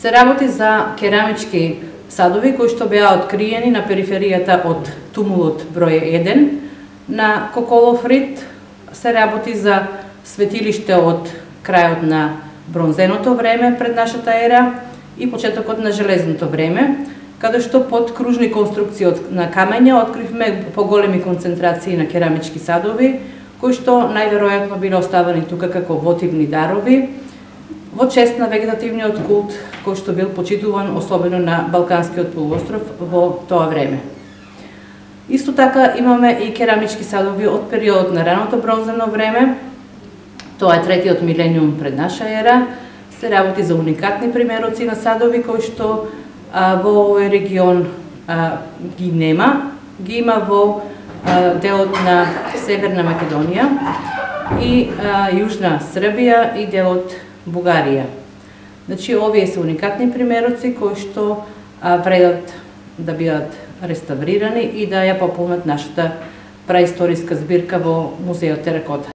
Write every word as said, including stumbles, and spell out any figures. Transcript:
се работи за керамички садови кои што беа откриени на периферијата од тумулот број еден на Коколов рид. Се работи за светилиште од крајот на бронзеното време пред нашата ера и почетокот на железното време, каде што под кружни конструкции на камења откривме поголеми концентрации на керамички садови, кои што најверојатно биле оставени тука како вотивни дарови во чест на вегетативниот култ кој што бил почитуван особено на Балканскиот полуостров во тоа време. Исто така имаме и керамички садови од периодот на раното бронзено време, тоа е третиот милениум пред наша ера. Се работи за уникатни примероци на садови кои што а, во овој регион а, ги нема, ги има во а, делот на Северна Македонија и а, Јужна Србија и делот Бугарија. Значи, овие се уникатни примероци кои што а, вредат да бидат реставрирани и да ја пополнат нашата праисториска збирка во Музеот Теракота.